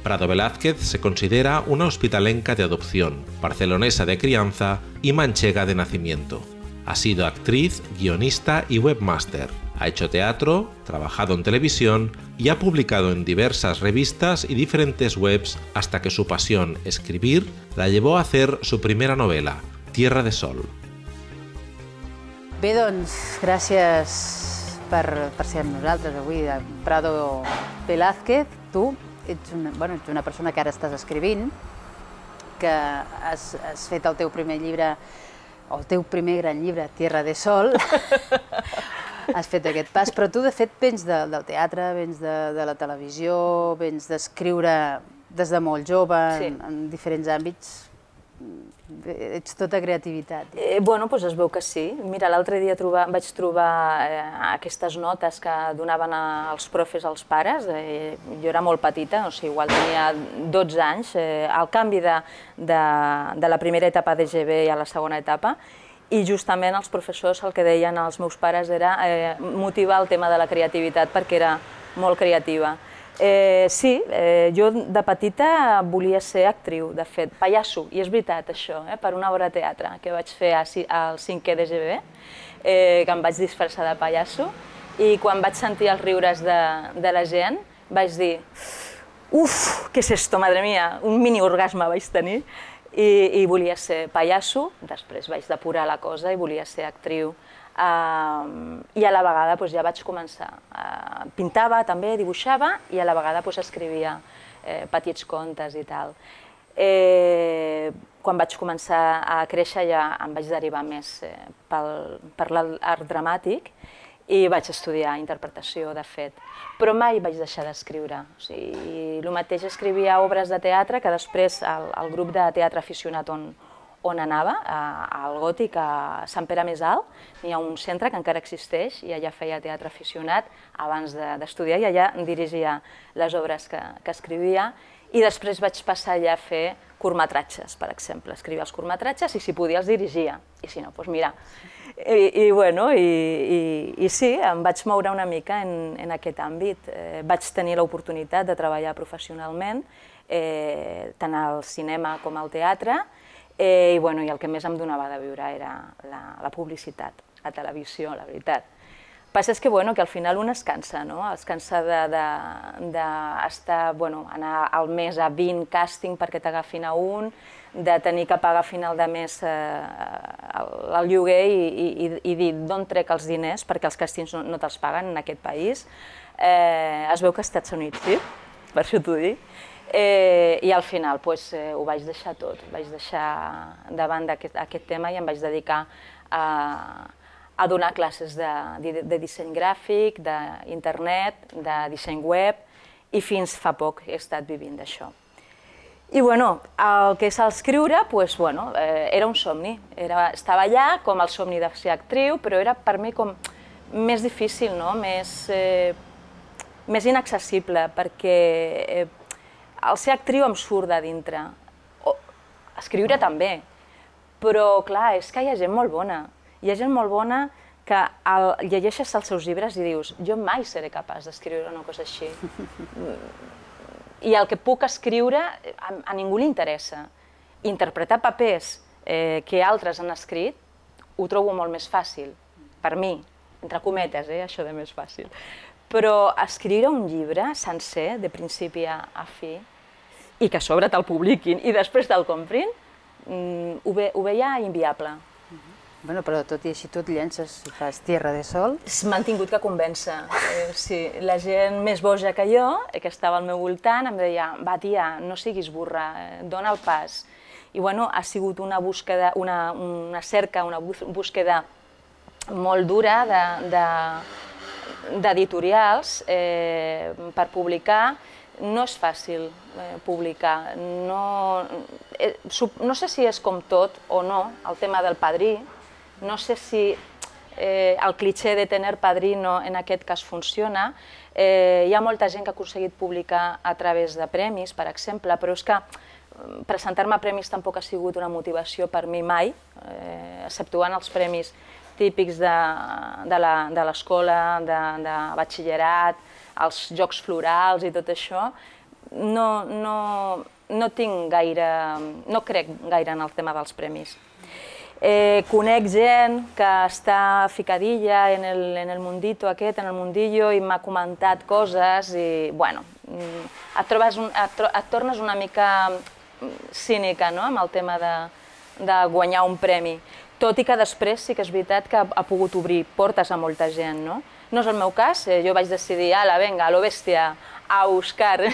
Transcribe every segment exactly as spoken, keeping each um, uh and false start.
Prado Velázquez se considera una hospitalenca de adopción, barcelonesa de crianza y manchega de nacimiento. Ha sido actriz, guionista y webmaster. Ha hecho teatro, trabajado en televisión y ha publicado en diversas revistas y diferentes webs hasta que su pasión, escribir, la llevó a hacer su primera novela, Tierra de Sol. Bé, doncs, gràcies per, per ser amb nosaltres avui, de Prado Velázquez. Tu ets una, bueno, ets una persona que ara estàs escrivint, que has, has fet el teu primer llibre, o el teu primer gran llibre, Tierra de Sol. Has fet aquest pas, però tu de fet vens de, del teatre, vens de, de la televisió, vens d'escriure des de molt jove, Sí. en, en diferents àmbits. Ets tota creativitat. Eh, bueno, doncs es veu que sí. Mira, l'altre dia trobar, vaig trobar eh, aquestes notes que donaven a, els profes als pares. Eh, jo era molt petita, o sigui, igual tenia dotze anys, eh, al canvi de, de, de la primera etapa de G B a la segona etapa, i justament els professors el que deien als meus pares era eh, motivar el tema de la creativitat perquè era molt creativa. Eh, sí, eh, jo de petita volia ser actriu, de fet, pallasso, i és veritat això, eh, per una obra de teatre que vaig fer al cinquè de G B, eh, que em vaig disfressar de pallasso, i quan vaig sentir els riures de, de la gent vaig dir uf, què és esto, madre mía, un mini orgasme vaig tenir. I, i volia ser pallasso, després vaig depurar la cosa i volia ser actriu. Uh, I a la vegada doncs, ja vaig començar. Uh, pintava també, dibuixava, i a la vegada doncs, escrivia eh, petits contes i tal. Eh, quan vaig començar a créixer ja em vaig derivar més eh, pel, per l'art dramàtic, i vaig estudiar interpretació, de fet. Però mai vaig deixar d'escriure. O sigui, el mateix escrivia obres de teatre que després el, el grup de teatre aficionat on, on anava, al Gòtic, a Sant Pere Més Alt, hi ha un centre que encara existeix i allà feia teatre aficionat abans d'estudiar, i allà dirigia les obres que, que escrivia, i després vaig passar allà a fer curtmetratges, per exemple. Escrivia els curtmetratges i si podia els dirigia, i si no, doncs mira. I, i, bueno, i, i, i sí, em vaig moure una mica en, en aquest àmbit. Eh, vaig tenir l'oportunitat de treballar professionalment, eh, tant al cinema com al teatre, eh, i, bueno, i el que més em donava de viure era la, la publicitat, la televisió, la veritat. El que passa és que, bueno, que al final un es cansa, no? Es cansa d'estar, bueno, anar al mes a vint càsting perquè t'agafin a un, de tenir que pagar a final de mes eh, el lloguer i, i, i dir d'on trec els diners perquè els càstings no, no te'ls paguen en aquest país. Eh, es veu que als Estats Units, sí? Per això t'ho dic. Eh, I al final pues, eh, ho vaig deixar tot, vaig deixar davant d'aquest aquest tema i em vaig dedicar a, a donar classes de, de, de disseny gràfic, d'internet, de disseny web, i fins fa poc he estat vivint d'això. I bueno, el que és l'escriure, pues, bueno, eh, era un somni. Era, estava allà com el somni de ser actriu, però era per mi com més difícil, no? més, eh, més inaccessible, perquè eh, el ser actriu em surt de dintre. O, escriure també, però clar, és que hi ha gent molt bona. Hi ha gent molt bona que el, llegeixes els seus llibres i dius jo mai seré capaç d'escriure una cosa així. I el que puc escriure a, a ningú li interessa. Interpretar papers eh, que altres han escrit ho trobo molt més fàcil, per mi, entre cometes, eh, això de més fàcil. Però escriure un llibre sencer, de principi a, a fi, i que a sobre te'l publiquin i després te'l comprin, mm, ho, ve, ho veia inviable. Bueno, però tot i així tu et llences i fas Tierra de Sol. M'han tingut que convèncer. Eh, sí, la gent més boja que jo, que estava al meu voltant, em deia va tia, no siguis burra, eh, dona el pas. I bueno, ha sigut una búsqueda, una, una cerca, una búsqueda molt dura d'editorials de, de, eh, per publicar. No és fàcil eh, publicar. No, eh, no sé si és com tot o no, el tema del padrí. No sé si eh, el cliché de tener padrino en aquest cas funciona. Eh, hi ha molta gent que ha aconseguit publicar a través de premis, per exemple, però és que presentar-me a premis tampoc ha sigut una motivació per mi mai, eh, exceptuant els premis típics de, de l'escola, de, de batxillerat, els jocs florals i tot això. no, no, no tinc gaire, no crec gaire en el tema dels premis. Eh, conec gent que està ficadilla en el, en el mundito aquest, en el mundillo, i m'ha comentat coses i, bueno, et, trobes un, et, tro, et tornes una mica cínica, no?, amb el tema de, de guanyar un premi. Tot i que després sí que és veritat que ha pogut obrir portes a molta gent, no? No és el meu cas, eh, jo vaig decidir, ala, venga, a lo bèstia, a buscar.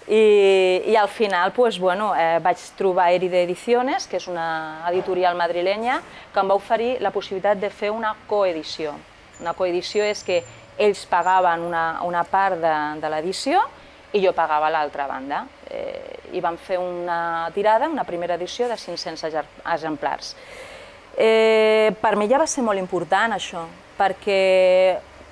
I, i al final pues, bueno, eh, vaig trobar Éride Ediciones, que és una editorial madrilenya, que em va oferir la possibilitat de fer una coedició. Una coedició és que ells pagaven una, una part de, de l'edició i jo pagava l'altra banda. Eh, I vam fer una tirada, una primera edició de cinc-cents exemplars. Eh, per mi ja va ser molt important això, perquè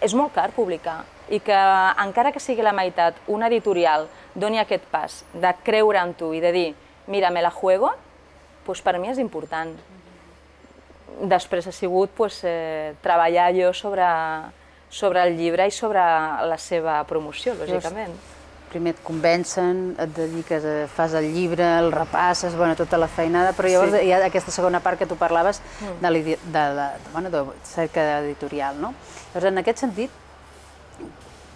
és molt car publicar i que encara que sigui la meitat una editorial doni aquest pas de creure en tu i de dir mira, me la juego, doncs per mi és important. Després ha sigut pues, eh, treballar jo sobre, sobre el llibre i sobre la seva promoció, lògicament. Primer et convencen, et dediques, a, fas el llibre, el repasses, bueno, tota la feinada, però llavors sí. Hi ha aquesta segona part que tu parlaves mm. de, de, de, de, bueno, de cerca editorial, no? Llavors, en aquest sentit,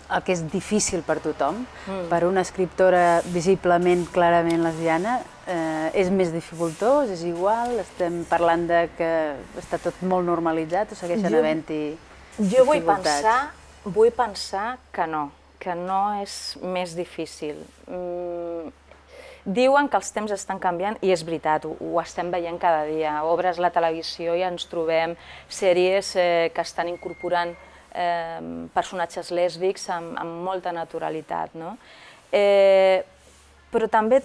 el que és difícil per tothom, mm. per una escriptora visiblement, clarament lesbiana, eh, és més dificultós, és igual, estem parlant de que està tot molt normalitzat o segueixen havent-hi dificultats? Jo vull pensar, vull pensar que no, que no és més difícil. Mm, diuen que els temps estan canviant i és veritat, ho, ho estem veient cada dia. Obres la televisió i ens trobem sèries eh, que estan incorporant eh, personatges lèsbics amb, amb molta naturalitat, no? Eh, però també,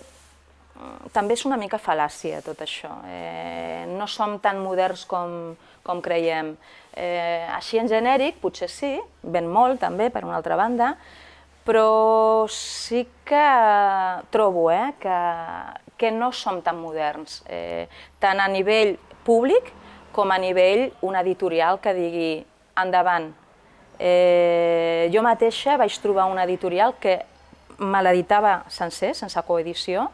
també és una mica fal·làcia tot això. Eh, no som tan moderns com, com creiem. Eh, així en genèric, potser sí, ben molt també, per una altra banda, però sí que trobo eh, que, que no som tan moderns, eh, tant a nivell públic com a nivell una editorial que digui endavant. Eh, jo mateixa vaig trobar una editorial que me l'editava sencer, sense coedició,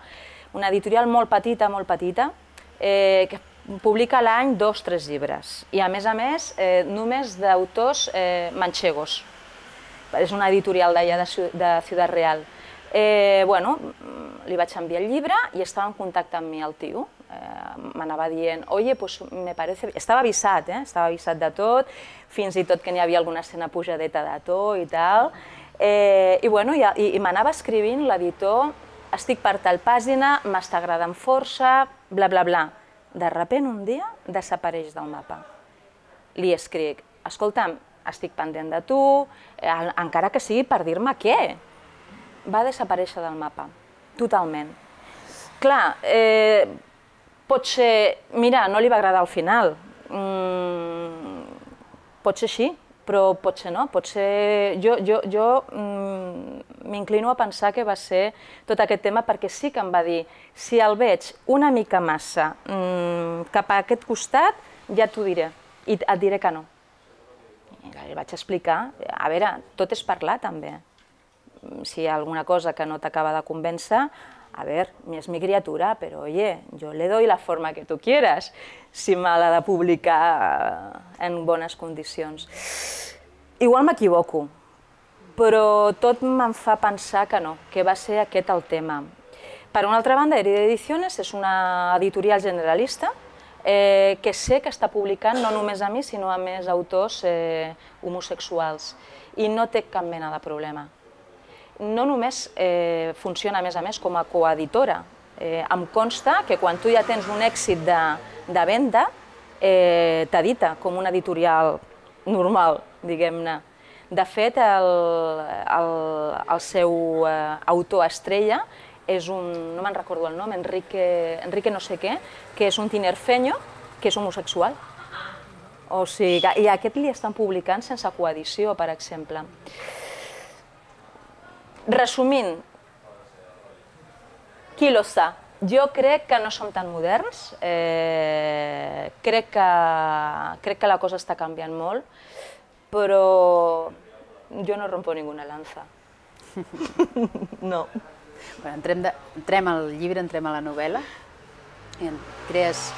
una editorial molt petita, molt petita, eh, que publica a l'any dos o tres llibres i a més a més eh, només d'autors eh, manchegos. És una editorial d'allà de Ciutat Real. Eh, bueno, li vaig enviar el llibre i estava en contacte amb mi el tio. Eh, M'anava dient, oye, pues me parece... Estava avisat, eh? Estava avisat de tot, fins i tot que n'hi havia alguna escena pujadeta de to i tal. Eh, I bueno, i, i, i m'anava escrivint l'editor, estic per tal pàgina, m'està agradant força, bla, bla, bla. De sobte, un dia, desapareix del mapa. Li escric, escolta'm, estic pendent de tu, encara que sigui per dir-me què. Va desaparèixer del mapa, totalment. Clar, eh, pot ser... Mira, no li va agradar al final. Mm, pot ser així, però pot ser no. Pot ser... Jo, jo, jo mm, m'inclino a pensar que va ser tot aquest tema perquè sí que em va dir si el veig una mica massa mm, cap a aquest costat, ja t'ho diré. I et diré que no. Li vaig explicar, a veure, tot és parlar també. Si hi ha alguna cosa que no t'acaba de convèncer, a veure, és mi criatura, però oye, jo le doy la forma que tu quieras, si me l'ha de publicar en bones condicions. Igual m'equivoco, però tot me'n fa pensar que no, que va ser aquest el tema. Per una altra banda, Éride Ediciones és una editorial generalista, Eh, que sé que està publicant no només a mi, sinó a més autors eh, homosexuals, i no té cap mena de problema. No només eh, funciona a més a més com a coeditora, eh, em consta que quan tu ja tens un èxit de, de venda, eh, t'edita com una editorial normal, diguem-ne. De fet, el, el, el seu eh, autor estrella és un, no me'n recordo el nom, Enrique, Enrique no sé què, que és un tinerfeño, que és homosexual. O sigui, i aquest li estan publicant sense coedició, per exemple. Resumint, qui lo sa? Jo crec que no som tan moderns, eh, crec, que, crec que la cosa està canviant molt, però jo no rompo ninguna lanza. No. Entrem al llibre, entrem a la novel·la, i crees,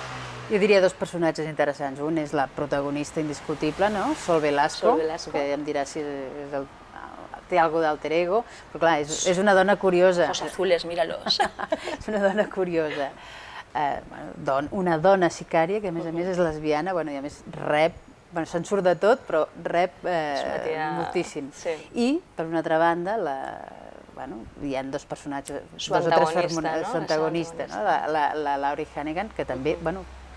jo diria, dos personatges interessants. Un és la protagonista indiscutible, Sol Velasco, que em dirà si té alguna d'alter ego, però clar, és una dona curiosa. Ojos azules, míralos. És una dona curiosa. Una dona sicària, que a més a més és lesbiana, i a més rep, se'n surt de tot, però rep moltíssim. I, per una altra banda, hi ha dos personatges, dos o tres antagonistes, la Laurie Hannigan, que també,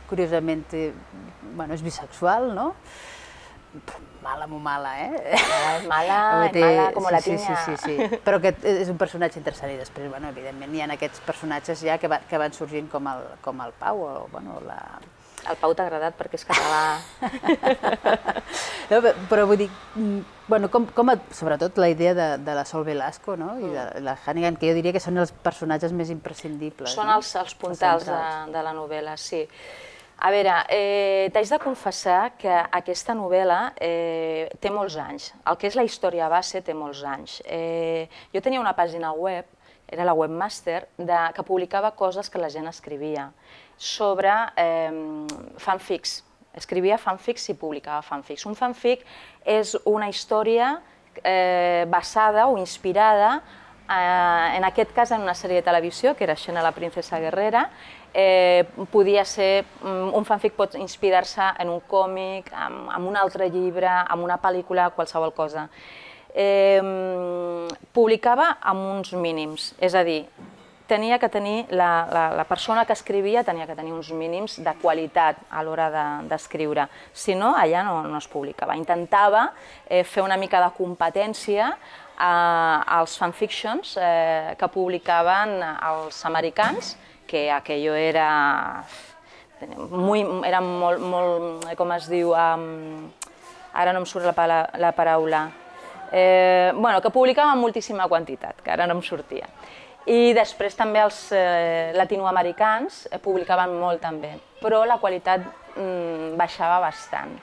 curiosament, és bisexual, no? Mala, molt mala, eh? Mala, mala, com la tinya. Sí, sí, sí, però és un personatge interessant i després, evidentment, hi ha aquests personatges ja que van sorgint com el Pau o la... El Pau t'ha agradat perquè és català. Però vull dir, sobretot la idea de la Sol Velasco i de la Hannigan, que jo diria que són els personatges més imprescindibles. Són els puntals de la novel·la, sí. A veure, t'haig de confessar que aquesta novel·la té molts anys. El que és la història base té molts anys. Jo tenia una pàgina web, era la Webmaster, que publicava coses que la gent escrivia sobre fanfics. Escrivia fanfics i publicava fanfics. Un fanfic és una història basada o inspirada, en aquest cas, en una sèrie de televisió, que era Xena la princesa guerrera. Podia ser, un fanfic pot inspirar-se en un còmic, en un altre llibre, en una pel·lícula, qualsevol cosa. Publicava amb uns mínims, és a dir, tenia que tenir, la persona que escrivia tenia que tenir uns mínims de qualitat a l'hora d'escriure, si no, allà no es publicava. Intentava fer una mica de competència als fanfictions que publicaven els americans, que aquello era era molt, com es diu, ara no em surt la paraula, bueno, que publicaven moltíssima quantitat, que ara no em sortia. I després també els latinoamericans publicaven molt també, però la qualitat baixava bastant.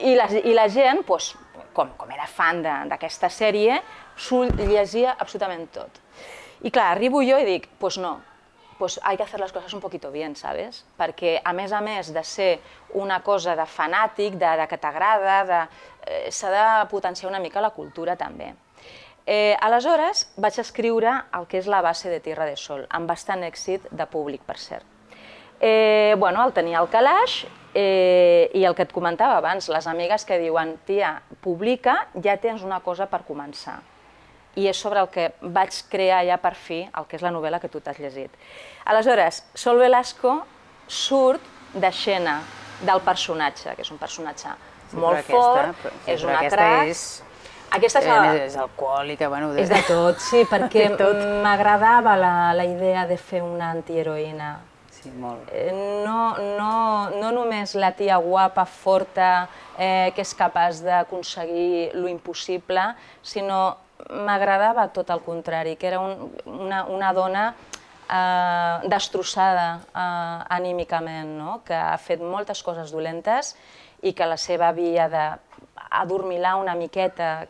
I la gent, com era fan d'aquesta sèrie, s'ho llegia absolutament tot. I clar, arribo jo i dic, doncs no, pues hay que hacer las cosas un poquito bien, ¿sabes? Perquè, a més a més de ser una cosa de fanàtic, de que t'agrada, s'ha de potenciar una mica la cultura també. Aleshores vaig escriure el que és la base de Tierra de Sol, amb bastant èxit de públic, per cert. Bueno, el tenia al calaix i el que et comentava abans, les amigues que diuen, tia, publica, ja tens una cosa per començar. I és sobre el que vaig crear ja per fi el que és la novel·la que tu t'has llegit. Aleshores, Sol Velasco surt de Xena, del personatge, que és un personatge molt fort, és una crac. Aquesta és alcohòlica, bueno... És de tot, sí, perquè m'agradava la idea de fer una antiheroïna. Sí, molt. No només la tia guapa, forta, que és capaç d'aconseguir lo impossible, sinó m'agradava tot el contrari, que era una dona destrossada anímicament, que ha fet moltes coses dolentes i que la seva via d'adormilar una miqueta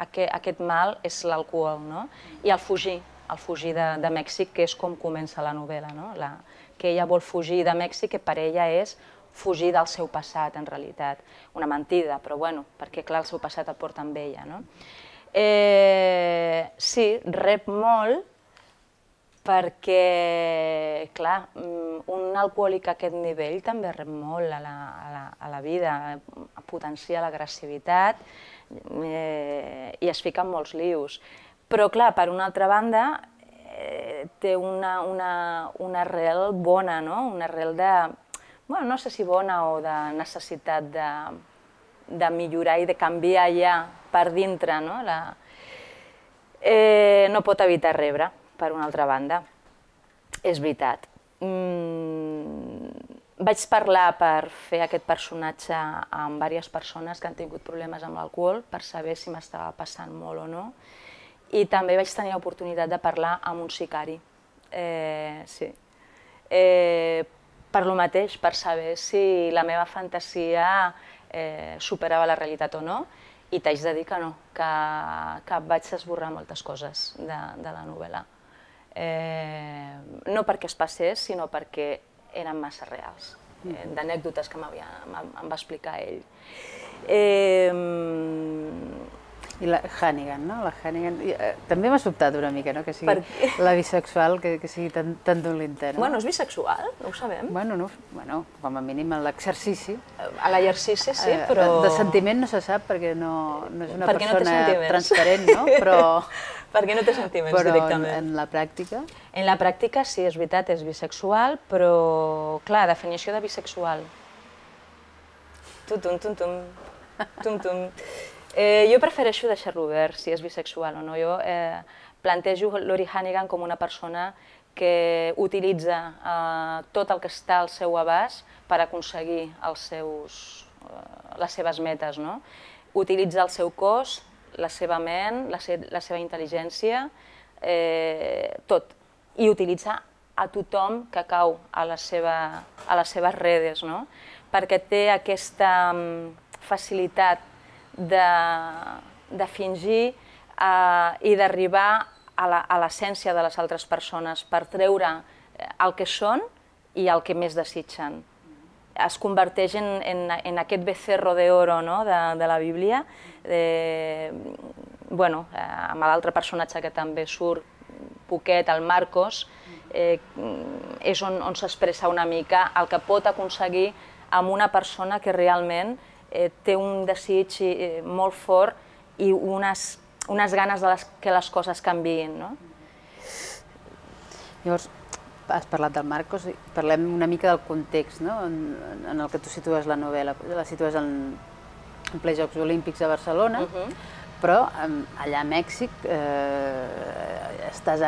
aquest mal és l'alcohol. I el fugir, el fugir de Mèxic, que és com comença la novel·la, que ella vol fugir de Mèxic, que per ella és fugir del seu passat, en realitat. Una mentida, però bueno, perquè clar, el seu passat el porta amb ella. Sí, rep molt perquè, clar, un alcohòlic a aquest nivell també rep molt a la vida, potencia l'agressivitat i es fica en molts lius. Però, clar, per una altra banda, té una arrel bona, una arrel de, no sé si bona o de necessitat de millorar i de canviar ja per dintre, no pot evitar rebre, per una altra banda. És veritat. Vaig parlar per fer aquest personatge amb diverses persones que han tingut problemes amb l'alcohol per saber si m'estava passant molt o no. I també vaig tenir l'oportunitat de parlar amb un sicari. Sí. Per lo mateix, per saber si la meva fantasia superava la realitat o no. I t'haig de dir que no, que vaig esborrar moltes coses de la novel·la. Eh, no perquè es passés, sinó perquè eren massa reals, eh, d'anècdotes que m'havia, em va explicar ell. Eh, I la Hannigan, no? La Hannigan... Eh, també m'ha sobtat una mica, no?, que sigui Per la bisexual, que, que sigui tan, tan dolenta, no? Bueno, és bisexual, no ho sabem. Bueno, no, bueno, com a mínim en l'exercici. A l'exercici sí, Eh, però... De sentiment no se sap perquè no, no és una Perquè no té persona sentiments. transparent, no? Però, Perquè no té sentiments però en, directament. en la pràctica... En la pràctica sí, és veritat, és bisexual, però, clar, definició de bisexual. Tum, tum, tum, tum, tum, tum. Eh, jo prefereixo deixar-lo obert, si és bisexual o no. Jo eh, plantejo Lori Hannigan com una persona que utilitza eh, tot el que està al seu abast per aconseguir els seus, eh, les seves metes, no? Utilitza el seu cos, la seva ment, la, se la seva intel·ligència, eh, tot. I utilitza a tothom que cau a, la seva, a les seves redes, no? Perquè té aquesta um, facilitat de, de fingir uh, i d'arribar a l'essència de les altres persones per treure el que són i el que més desitgen. Es converteix en, en, en aquest becerro de oro, no?, de, de la Bíblia. De, bueno, amb l'altre personatge que també surt poquet, el Marcos, eh, és on, on s'expressa una mica el que pot aconseguir amb una persona que realment eh, té un desig eh, molt fort i unes, unes ganes de les, que les coses canviïn, no? Llavors, has parlat del Marcos, parlem una mica del context, no?, en, en el que tu situes la novel·la. La situes en, en ple Jocs Olímpics a Barcelona, uh-huh. però allà a Mèxic eh, estàs,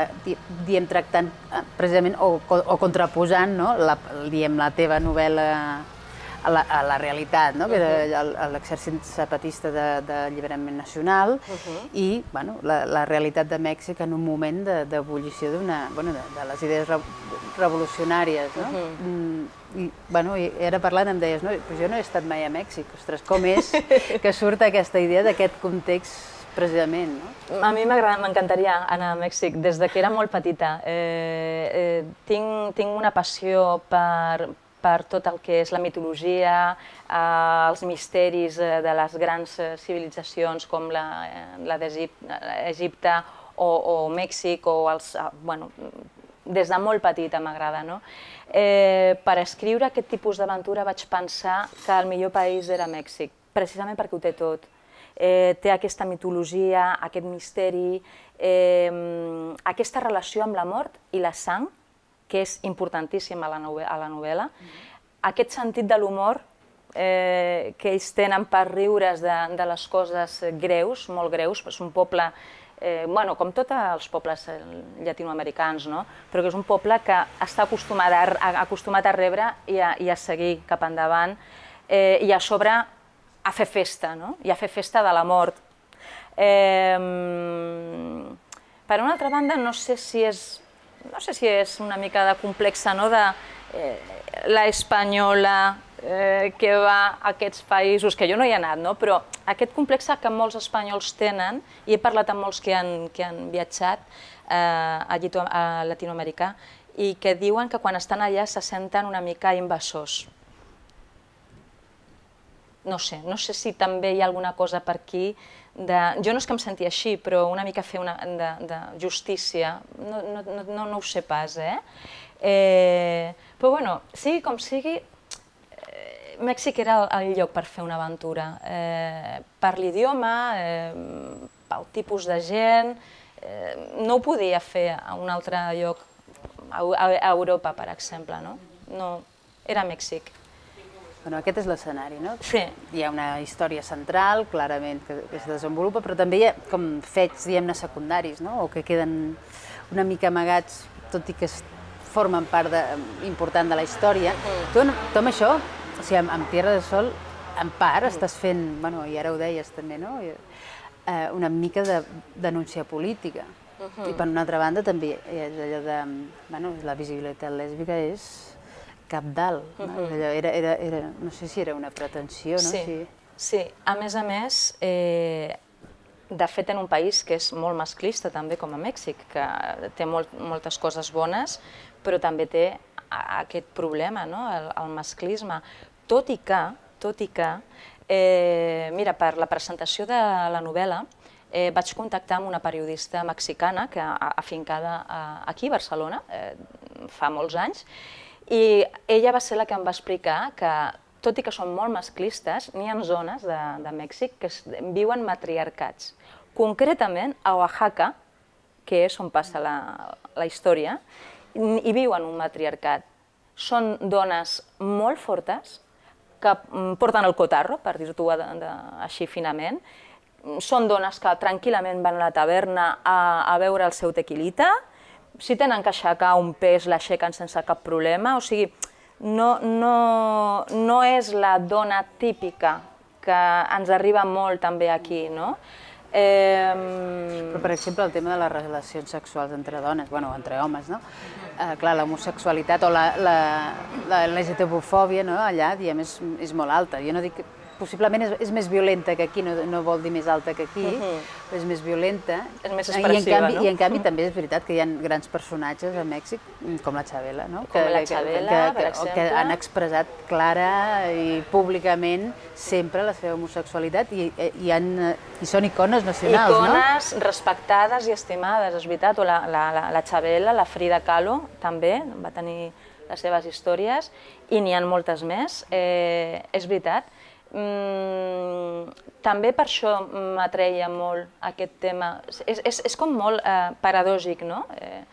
diem, tractant precisament o, o contraposant, no?, la, diem, la teva novel·la a la, a la realitat, no?, que era l'exèrcit zapatista d'alliberament nacional, uh-huh. i bueno, la, la realitat de Mèxic en un moment d'ebullició d'una, bueno, de, de les idees re, revolucionàries, no? Uh-huh. I, bueno, i ara parlant em deies, no, però jo no he estat mai a Mèxic, ostres, com és que surt aquesta idea d'aquest context precisament, no? A mi m'encantaria anar a Mèxic des de que era molt petita. Eh, eh, tinc, tinc una passió per, per tot el que és la mitologia, eh, els misteris de les grans civilitzacions com la, la d'Egipte o, o Mèxic, o els, bueno, des de molt petita m'agrada, no? Eh, per escriure aquest tipus d'aventura vaig pensar que el millor país era Mèxic, precisament perquè ho té tot. Eh, té aquesta mitologia, aquest misteri, eh, aquesta relació amb la mort i la sang, que és importantíssima a la, novel·la, a la novel·la, mm-hmm. aquest sentit de l'humor eh, que ells tenen per riure's de, de les coses greus, molt greus, és un poble, eh, bueno, com tots els pobles llatinoamericans, no? Però que és un poble que està acostumat a, acostumat a rebre i a, i a seguir cap endavant, eh, i a sobre a fer festa, no? I a fer festa de la mort. Eh, per una altra banda, no sé si és, no sé si és una mica de complexa, no? De eh, la espanyola eh, que va a aquests països, que jo no hi he anat, no? Però aquest complex que molts espanyols tenen, i he parlat amb molts que han, que han viatjat eh, a, a Latinoamèrica, i que diuen que quan estan allà se senten una mica invasors. No sé, no sé si també hi ha alguna cosa per aquí, de, jo no és que em senti així, però una mica fer una, de, de justícia, no, no, no, no ho sé pas, eh? eh però bueno, sigui com sigui, eh, Mèxic era el, el lloc per fer una aventura, eh, per l'idioma, eh, pel tipus de gent, eh, no ho podia fer a un altre lloc, a, a Europa, per exemple, no? No, era Mèxic. Bueno, aquest és l'escenari, no? Sí. Hi ha una història central, clarament, que, que es desenvolupa, però també hi ha com fets, diguem-ne, secundaris, no? O que queden una mica amagats, tot i que formen part de, important de la història. Mm. Tu, tu amb això, o sigui, amb, amb Tierra del Sol, en part, mm. estàs fent, bueno, i ara ho deies també, no? Eh, una mica de denúncia política. Uh-huh. I per una altra banda també és allò de, bueno, la visibilitat lèsbica és cabdal, no? Uh-huh. era, era, era, no sé si era una pretensió, no? Sí, sí. sí. A més a més, eh, de fet, en un país que és molt masclista també, com a Mèxic, que té molt, moltes coses bones, però també té aquest problema, no? el, el masclisme. Tot i que, tot i que eh, mira, per la presentació de la novel·la eh, vaig contactar amb una periodista mexicana que afincada aquí a Barcelona eh, fa molts anys, i ella va ser la que em va explicar que, tot i que són molt masclistes, n'hi ha zones de, de Mèxic que es, viuen matriarcats. Concretament, a Oaxaca, que és on passa la, la història, hi viuen un matriarcat. Són dones molt fortes, que porten el cotarro, per dir-t'ho així finament. Són dones que tranquil·lament van a la taverna a, a beure el seu tequilita. Si tenen que aixecar un pes, l'aixequen sense cap problema. O sigui, no, no, no és la dona típica que ens arriba molt també aquí, no? Eh... Però, per exemple, el tema de les relacions sexuals entre dones, bueno, entre homes, no? Eh, clar, l'homosexualitat o la, la, la L G T B-fòbia, no? Allà, diem, és, és molt alta. Jo no dic que possiblement és, és més violenta que aquí, no, no vol dir més alta que aquí, uh-huh. però és més violenta. És més expressiva, I en canvi, no? I en canvi també és veritat que hi ha grans personatges a Mèxic, com la Chabela, no? Com la Chabela, que, que, per que, exemple. Que han expressat clara i públicament sempre la seva homosexualitat i, i, han, i són icones nacionals, icones, no? Icones respectades i estimades, és veritat. O la, la, la, la Chabela, la Frida Kahlo, també va tenir les seves històries, i n'hi ha moltes més, eh, és veritat. Mm, també per això m'atreia molt aquest tema. És, és, és com molt eh, paradògic, no? Eh,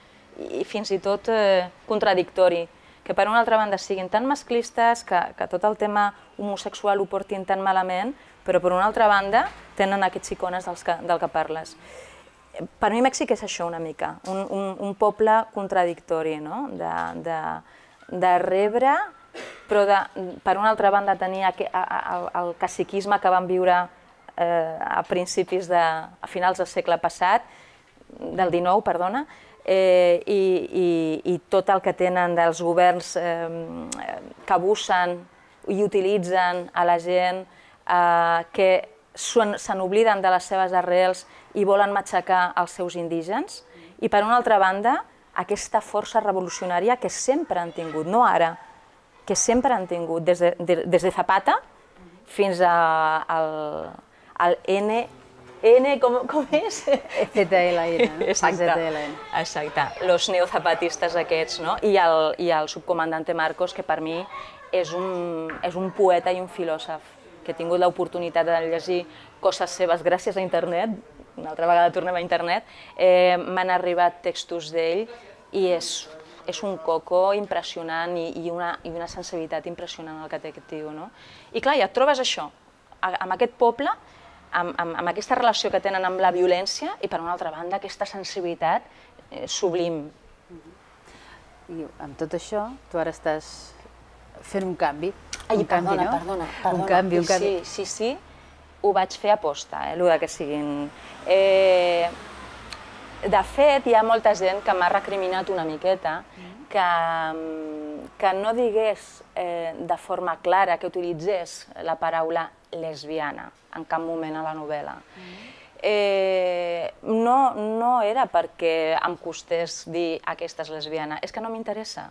i fins i tot eh, contradictori, que per una altra banda siguin tan masclistes, que, que tot el tema homosexual ho portin tan malament, però per una altra banda tenen aquests icones dels que, del que parles. Per mi Mèxic és això una mica, un, un, un poble contradictori, no? de, de, de rebre, però de, per una altra banda tenia el, el caciquisme que van viure eh, a principis de, a finals del segle passat, del dinou, perdona, eh, i, i, i tot el que tenen dels governs eh, que abusen i utilitzen a la gent, eh, que se n'obliden de les seves arrels i volen matxacar els seus indígens, i per una altra banda aquesta força revolucionària que sempre han tingut, no ara, que sempre han tingut, des de, de, des de Zapata fins a, al, al N, N com, com és? Z L N, no? Exacte, exacte, los neozapatistes aquests, no? I el, i el subcomandante Marcos, que per mi és un, és un poeta i un filòsof, que he tingut l'oportunitat de llegir coses seves gràcies a internet, una altra vegada tornem a internet, eh, m'han arribat textos d'ell i és és un coco impressionant i, i, una, i una sensibilitat impressionant el que té aquest tio, no? I clar, ja et trobes això, amb aquest poble, amb, amb, amb aquesta relació que tenen amb la violència i per una altra banda aquesta sensibilitat eh, sublim. I amb tot això, tu ara estàs fent un canvi. Ai, un perdona, canvi, no? perdona, perdona. Un canvi, un canvi. Sí, sí, sí, ho vaig fer a posta, eh, el que siguin. Eh, De fet, hi ha molta gent que m'ha recriminat una miqueta que, que no digués eh, de forma clara, que utilitzés la paraula lesbiana en cap moment a la novel·la. Eh, no, no era perquè em costés dir aquesta és lesbiana, és que no m'interessa.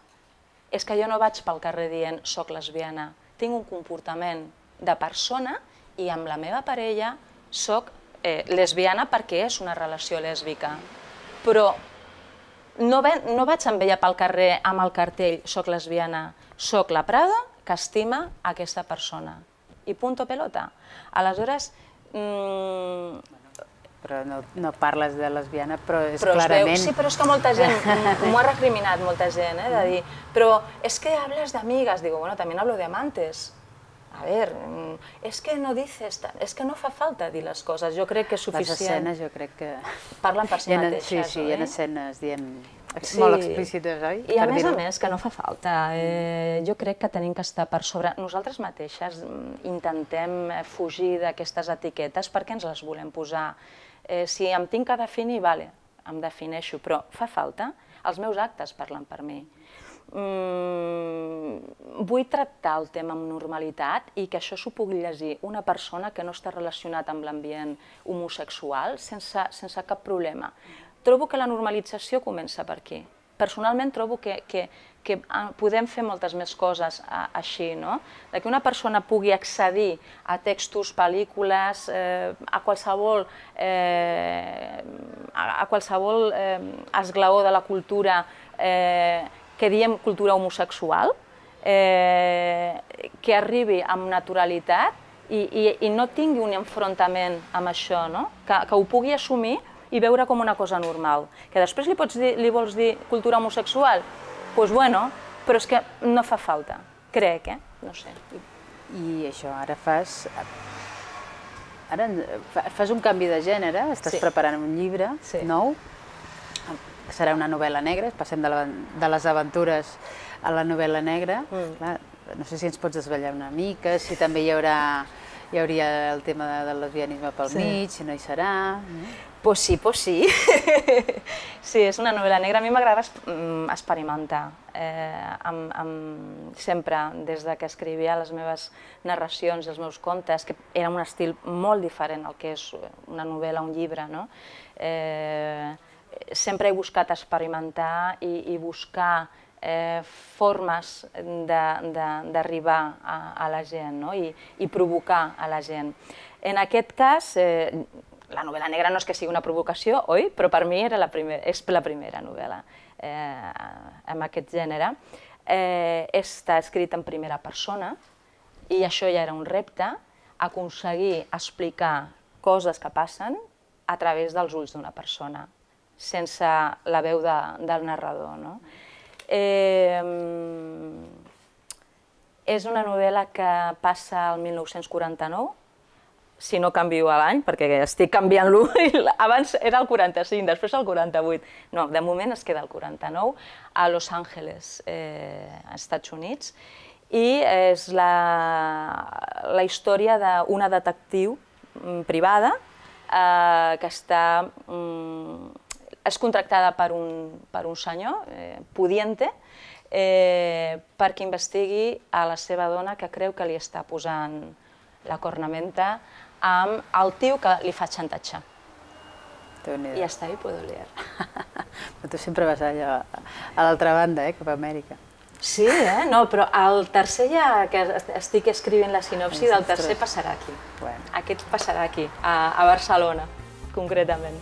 És que jo no vaig pel carrer dient soc lesbiana. Tinc un comportament de persona i amb la meva parella soc eh, lesbiana perquè és una relació lèsbica. Però no, ve, no vaig amb ella pel carrer amb el cartell soc lesbiana, soc la Prada que estima aquesta persona. I punto pelota. Aleshores... Mmm... Però no, no parles de lesbiana, però és però clarament... Veu, sí, però és que molta gent, m'ho ha recriminat molta gent, eh, de dir, però és que hablas de amigas, digo, bueno, también hablo de amantes. A ver, és que no dices, és que no fa falta dir les coses, jo crec que és suficient. Les escenes jo crec que... Parlen per si mateixes, sí, sí, oi? hi ha escenes, diem, molt explícites, oi? I a més a més, que no fa falta. Jo crec que tenim que estar per sobre... Nosaltres mateixes intentem fugir d'aquestes etiquetes perquè ens les volem posar. Si em tinc que definir, vale, em defineixo, però fa falta, els meus actes parlen per mi. mm, vull tractar el tema amb normalitat i que això s'ho pugui llegir una persona que no està relacionat amb l'ambient homosexual sense, sense cap problema. Trobo que la normalització comença per aquí. Personalment trobo que, que, que podem fer moltes més coses a, així, no? De que una persona pugui accedir a textos, pel·lícules, eh, a qualsevol, eh, a, a qualsevol eh, esglaó de la cultura eh, que diem cultura homosexual, eh, que arribi amb naturalitat i, i, i no tingui un enfrontament amb això, no? Que, que ho pugui assumir i veure com una cosa normal. Que després li, pots dir, li vols dir cultura homosexual? Doncs pues bueno, però és que no fa falta, crec, eh? No sé. I això, ara fas... Ara fas un canvi de gènere, estàs sí. preparant un llibre sí. nou, serà una novel·la negra, passem de, la, de les aventures a la novel·la negra. Mm. Clar, no sé si ens pots desvetllar una mica, si també hi haurà... Hi hauria el tema del lesbianisme pel sí. mig, si no hi serà... Pues sí, pues sí. Sí, és una novel·la negra. A mi m'agrada experimentar. Eh, amb, amb, sempre, des de que escrivia les meves narracions, els meus contes, que era un estil molt diferent al que és una novel·la, un llibre, no? Eh, sempre he buscat experimentar i, i buscar eh, formes d'arribar a, a la gent, no? I, i provocar a la gent. En aquest cas, eh, la novel·la negra no és que sigui una provocació, oi? Però per mi era la primer, és la primera novel·la eh, en aquest gènere. Eh, està escrit en primera persona i això ja era un repte, aconseguir explicar coses que passen a través dels ulls d'una persona, sense la veu de, del narrador, no? Eh, és una novel·la que passa al mil nou-cents quaranta-nou, si no canvio a l'any, perquè estic canviant-lo, abans era el quaranta-cinc, després el quaranta-vuit. No, de moment es queda el quaranta-nou, a Los Angeles, eh, als Estats Units, i és la, la història d'una detectiu privada eh, que està, mm, és contractada per un, per un senyor, eh, pudiente, eh, perquè investigui a la seva dona que creu que li està posant la cornamenta amb el tio que li fa xantatge. I hasta ahí puedo leer. Però tu sempre vas allà a l'altra banda, eh, cap a Amèrica. Sí, eh? No, però el tercer ja que estic escrivint la sinopsi del tercer passarà aquí. Aquest passarà aquí, a Barcelona, concretament.